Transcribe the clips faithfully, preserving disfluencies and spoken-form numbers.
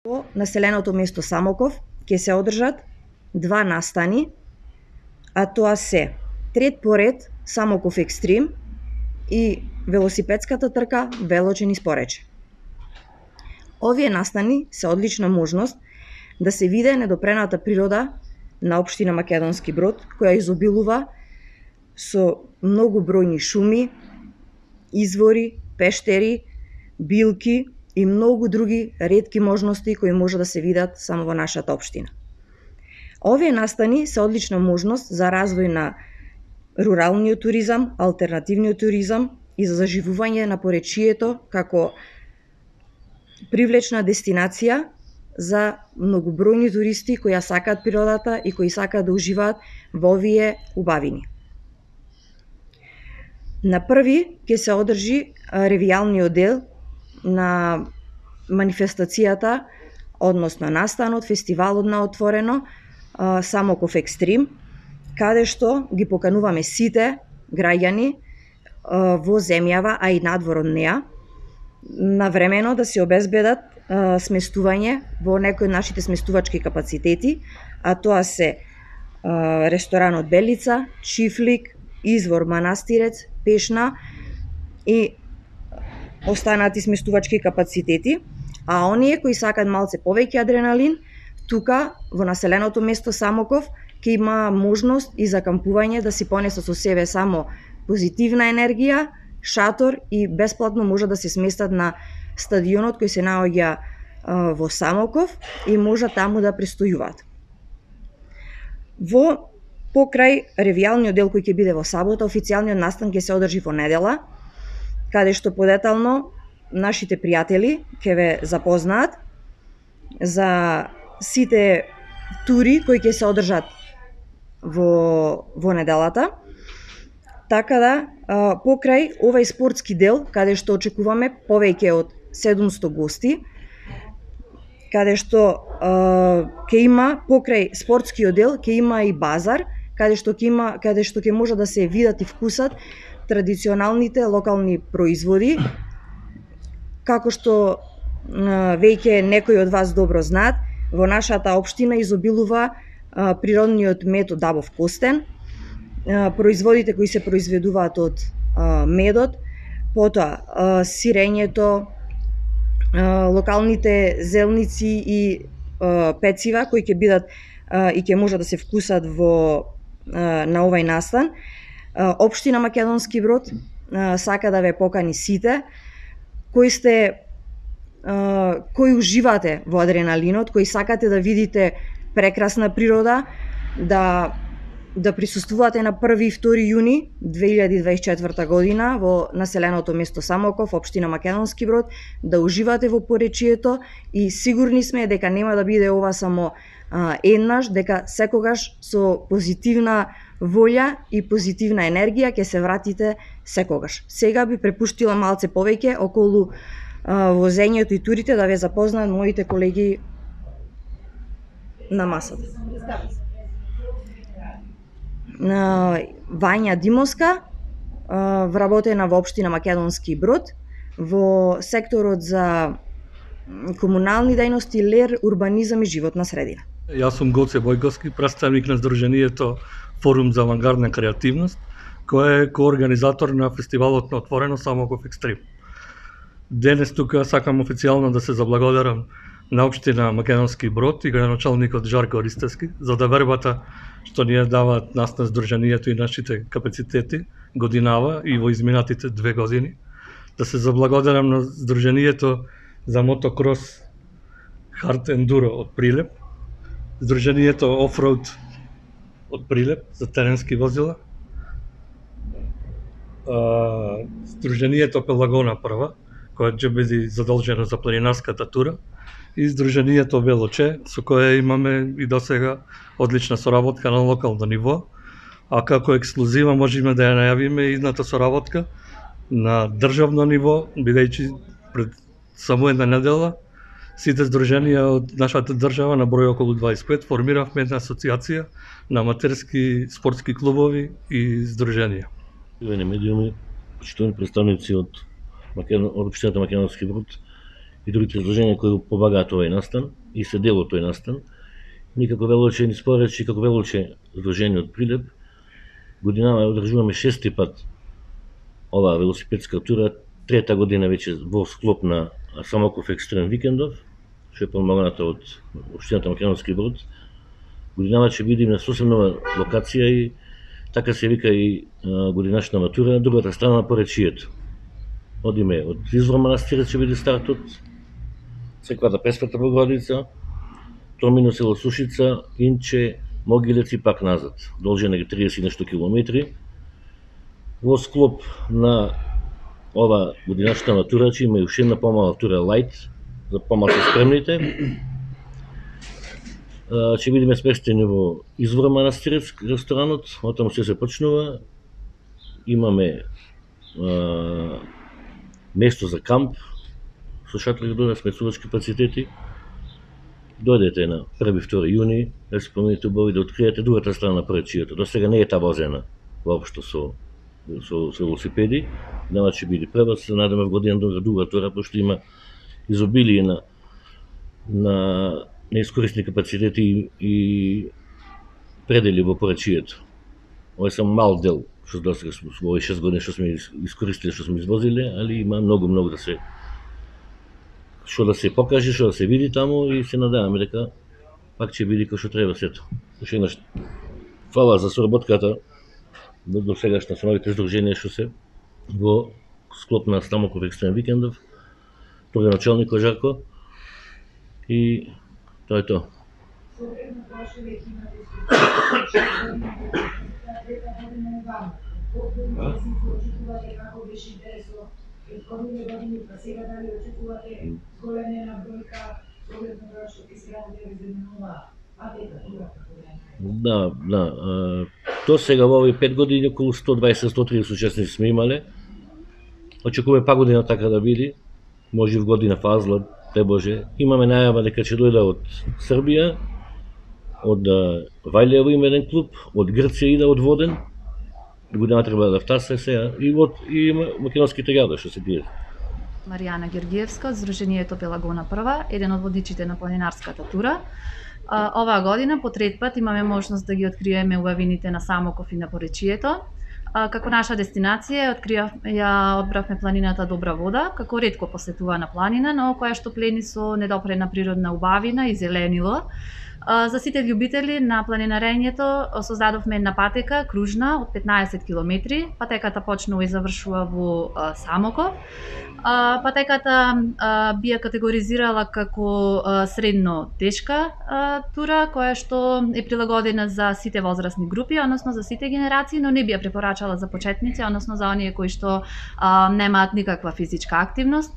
Во населеното место Самоков ќе се одржат два настани, а тоа се трет поред Самоков Екстрим и велосипедската трка Велочен испорече. Овие настани се одлична можност да се види недопрената природа на општина Македонски Брод, која изобилува со многу бројни шуми, извори, пештери, билки и многу други ретки можности кои може да се видат само во нашата општина. Овие настани се одлична можност за развој на руралниот туризам, алтернативниот туризам и за заживување на поречието како привлечна дестинација за многобројни туристи кои ја сакаат природата и кои сакаат да уживаат во овие убавини. На први ќе се одржи ревијалниот дел на манифестацијата, односно настанот, фестивалот на отворено Самоков Екстрим, каде што ги покануваме сите граѓани во земјава, а и надвор од неа, навремено да се обезбедат сместување во некои од нашите сместувачки капацитети, а тоа се ресторанот Белица, Чифлик, Извор Манастирец, Пешна и останати сместувачки капацитети, а оние кои сакаат малце повеќе адреналин, тука во населеното место Самоков ќе има можност и за кампување да си понесат со себе само позитивна енергија, шатор и бесплатно може да се сместат на стадионот кој се наоѓа во Самоков и може таму да престојуваат. Во покрај ревијалниот дел кој ќе биде во сабота, официјалниот настан ќе се одржи во недела, каде што подетално нашите пријатели ќе ве запознаат за сите тури кои ќе се одржат во, во неделата. Така да, покрај овај спортски дел, каде што очекуваме повеќе од седумсто гости, каде што ќе има покрај спортскиот дел, ќе има и базар, каде што ќе има, каде што ќе може да се видат и вкусат традиционалните локални производи, како што веќе некои од вас добро знаат, во нашата општина изобилува природниот мед од Дабов костен, производите кои се произведуваат од медот, потоа сирењето, локалните зелници и пецива кои ќе бидат и ќе може да се вкусат во на овај настан. Општина Македонски Брод сака да ве покани сите кои сте кои уживате во адреналинот, кои сакате да видите прекрасна природа, да да присуствувате на први и втори јуни две илјади дваесет и четврта година во населеното место Самоков, општина Македонски Брод, да уживате во поречието и сигурни сме дека нема да биде ова само а, еднаш, дека секогаш со позитивна волја и позитивна енергија ќе се вратите секогаш. Сега би препуштила малце повеќе околу а, возењето и турите да ве запознаат моите колеги на масата. Вања Димовска, вработена во општина Македонски Брод, во секторот за комунални дејности, лер, урбанизам и животна средина. Јас сум Гоце Бојковски, представник на Сдруженијето Форум за авангардна креативност, кој е коорганизатор на фестивалот на отворено Самоков Екстрим. Денес тука сакам официјално да се заблагодарам на општина Македонски Брод и градоначалникот Жарко Ристевски за довербата што ни ја даваат нас на Сдруженијето и нашите капацитети годинава и во изминатите две години. Да се заблагодарам на Сдруженијето за мотокрос Хард Ендуро од Прилеп, Сдруженијето Офроуд од Прилеп за теренски возила, Сдруженијето Пелагона прва, која ќе биде задолжена за планинарската тура, и Сдруженијето Велоче, со кое имаме и досега одлична соработка на локално ниво, а како ексклузива можеме да ја најавиме идната соработка на државно ниво, бидејќи пред само една недела сите здруженија од нашата држава на број околу дваесет и пет формиравме една асоциација на аматерски спортски клубови и здруженија. Јувани медиуми, почитувани представници од Македон, од општината Македонски Брод и другите изложенија кои помагаат овој настан и се дел од тој настан. Ние како велоуче ни споречи, како велоуче Здружениот Прилеп, годинава одржуваме шести пат оваа велосипедска тура, трета година веќе во склоп на Самоков Екстрем Викендов, што е помогната од Општината Македонски Брод. Годинава ќе бидеме на сосем нова локација и така се вика и годинашна матура на другата страна на поречието. Одиме од Извор манастирот ќе биде стартот, црквата Пресвета Богородица, Тромино село Сушица, Инче, Могилец и пак назад. Должина е триесет нешто километри. Во склоп на ова годинашна матура ќе има уште една помала тура лајт за помалку спремните. Ќе бидеме сместени во Извор манастирец, ресторанот, оттаму се се почнува. Имаме а, место за камп, со шатри до смесувачки капацитети. Дојдете на први-втори јуни, да се помините убави да откриете другата страна на поречието. До сега не е табазена воопшто со со, со велосипеди. Нема ќе биде прва, се надаме в година друга друга тура, пошто има изобилие на на неискористни капацитети и, и предели во поречието. Ова е само мал дел што до сега во овие шест години што сме искористили, што сме извозиле, али има многу многу да се што да се покаже, што да се види таму и се надеваме дека пак ќе биде кој што треба сето. Уште еднаш фала за соработката до сегашна со новите здруженија што се во склоп на Самоков Екстрем Викендов, тој началник Жарко и тоа е тоа. Да, да. До сега во овие пет години околу сто дваесет до сто тридесет учесници сме имале. Очекуваме па година така да биде. Може в година фазла, те Боже. Имаме најава дека ќе дојде од Србија, од Вајлево има еден клуб, од Грција иде од Воден. Година треба да втасе сега и од и македонските градови што се тие. Маријана Георгиевска од Здруженијето Пелагона прва, еден од водичите на планинарската тура. Оваа година по трет пат имаме можност да ги откриеме убавините на Самоков и на поречието. Како наша дестинација откриав, ја одбравме планината Добра вода, како ретко посетувана планина, но која што плени со недопрена природна убавина и зеленило. За сите љубители на планинарењето создадовме една патека кружна од петнаесет километри. Патеката почнува и завршува во Самоков. Патеката би ја категоризирала како средно тешка тура, која што е прилагодена за сите возрастни групи, односно за сите генерации, но не би ја препорачала за почетници, односно за оние кои што немаат никаква физичка активност.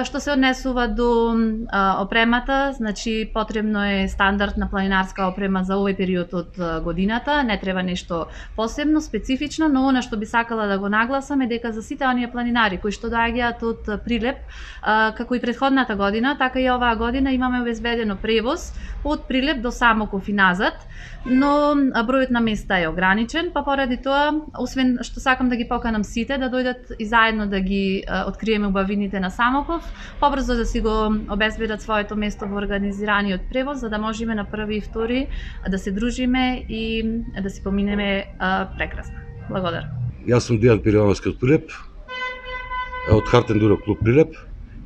Што се однесува до опремата, значи потребно е стандардна планинарска опрема за овој период од годината, не треба нешто посебно, специфично, но она што би сакала да го нагласам е дека за сите оние планинари кои што доаѓаат од Прилеп, како и претходната година, така и оваа година имаме обезбедено превоз од Прилеп до Самоков и назад, но бројот на места е ограничен, па поради тоа, освен што сакам да ги поканам сите да дојдат и заедно да ги откриеме убавините на Самоков, побрзо да си го обезбедат своето место во организираниот превоз, за да можеме на први и втори да се дружиме и да си поминеме прекрасно. Благодарам. Јас сум Дијан Пирјановски од Прилеп, од Хартен Дуро клуб Прилеп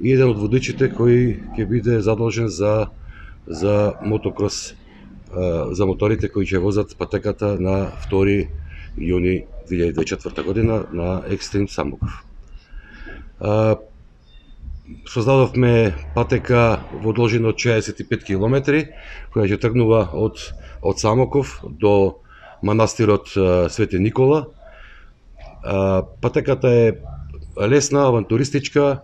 и еден од водичите кој ќе биде задолжен за за мотокрос, за моторите кои ќе возат патеката на втори јуни две илјади дваесет и четврта година на Екстрим Самоков. Создадовме патека во должина од шеесет и пет километри, која ќе тргнува од од Самоков до манастирот Свети Никола. Патеката е лесна, авантуристичка,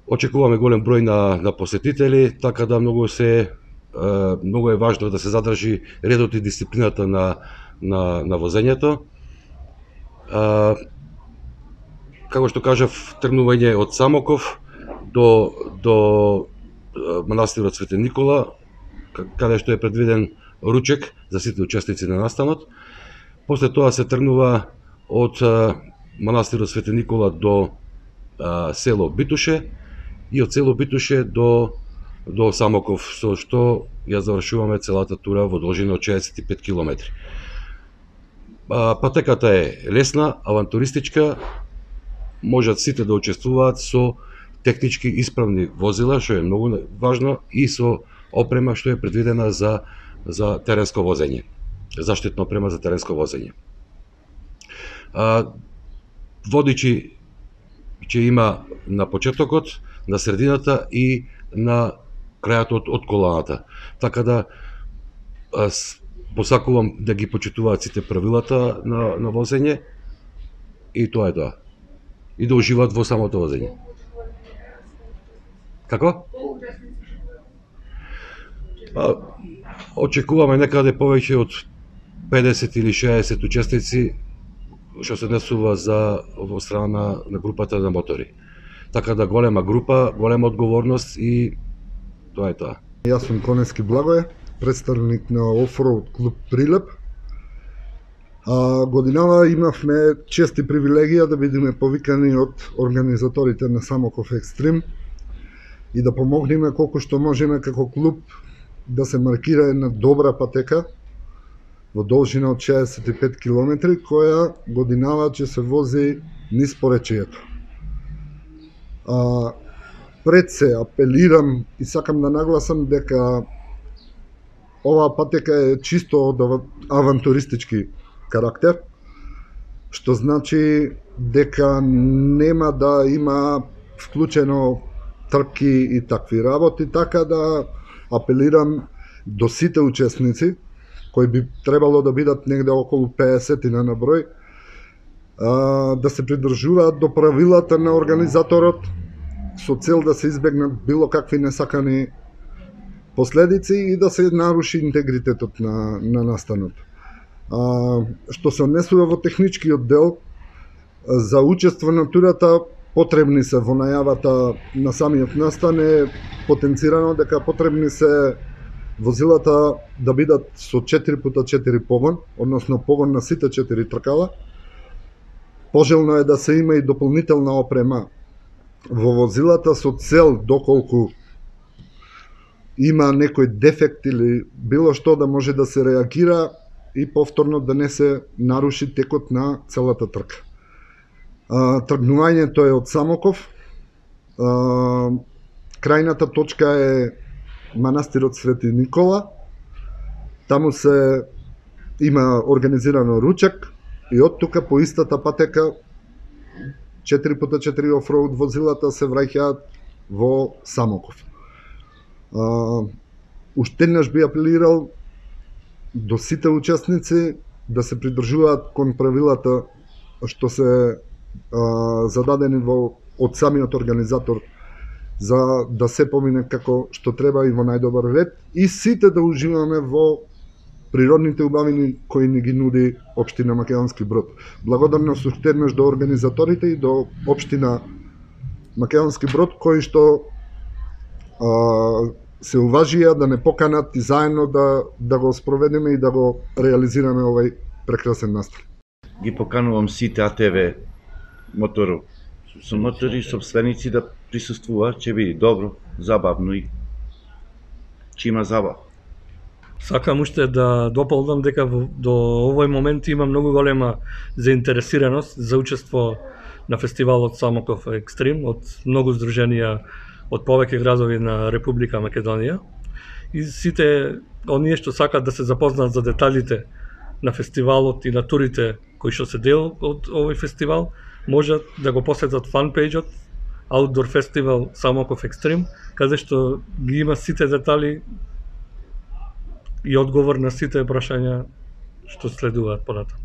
очекуваме голем број на, на посетители, така да многу се многу е важно да се задржи редот и дисциплината на, на, на возењето. Како што кажав, тргнување од Самоков до, до манастирот Свети Никола, каде што е предвиден ручек за сите учесници на настанот. После тоа се тргнува од манастирот Свети Никола до а, село Битуше и од село Битуше до до Самоков, со што ја завршуваме целата тура во должина од шеесет и пет километри. Патеката е лесна, авантуристичка, можат сите да учествуваат со технички исправни возила, што е многу важно, и со опрема што е предвидена за за теренско возење, заштитна опрема за теренско возење. А, водичи ќе има на почетокот, на средината и на крајот од, од коланата. Така да аз посакувам да ги почитуваат сите правилата на, на возење, и тоа е тоа. И да уживаат во самото возење. Како? Па, очекуваме некаде повеќе од педесет или шеесет учесници, што се однесува за во страна на групата на мотори. Така да голема група, голема одговорност, и тоа е тоа. Јас сум Конески Благоје, представник на Офроуд клуб Прилеп. А, годинава имавме чест и привилегија да бидеме повикани од организаторите на Самоков Екстрим и да помогнеме колку што можеме како клуб да се маркира една добра патека во должина од шеесет и пет километри, која годинава ќе се вози низ поречието. А, пред се апелирам и сакам да нагласам дека оваа патека е чисто од авантуристички карактер, што значи дека нема да има вклучено трки и такви работи, така да апелирам до сите учесници, кои би требало да бидат негде околу педесет на број, да се придржуваат до правилата на организаторот, со цел да се избегнат било какви несакани последици и да се наруши интегритетот на, на настанот. А, што се однесува во техничкиот дел, за учество на турата потребни се во најавата на самиот настан е потенцирано дека потребни се возилата да бидат со четири пута четири погон, односно погон на сите четири тркала. Пожелно е да се има и дополнителна опрема во возилата со цел доколку има некој дефект или било што да може да се реагира и повторно да не се наруши текот на целата трка. А, тргнувањето е од Самоков. А, крајната точка е манастирот Свети Никола. Таму се има организирано ручек и од тука по истата патека четири пута четири офроуд возилата се враќаат во Самоков. А, уште еднаш би апелирал до сите учесници да се придржуваат кон правилата што се а, зададени во од самиот организатор, за да се помине како што треба и во најдобар ред, и сите да уживаме во природните убавини кои ни ги нуди општина Македонски Брод. Благодарност уште еднаш до организаторите и до општина Македонски Брод, кои што а, се уважија да не поканат и заедно да, да го спроведеме и да го реализираме овај прекрасен настан. Ги поканувам сите А Т В мотор, со мотори собственици да присуствуваат, ќе биде добро, забавно и ќе има забава. Сакам уште да дополнам дека до овој момент има многу голема заинтересираност за учество на фестивалот Самоков Екстрим од многу здруженија од повеќе градови на Република Македонија, и сите оние што сакат да се запознаат за деталите на фестивалот и на турите кои што се дел од овој фестивал, можат да го посетат фанпејџот Outdoor Festival Самоков Екстрим, каде што ги има сите детали и одговор на сите прашања што следуваат понатаму.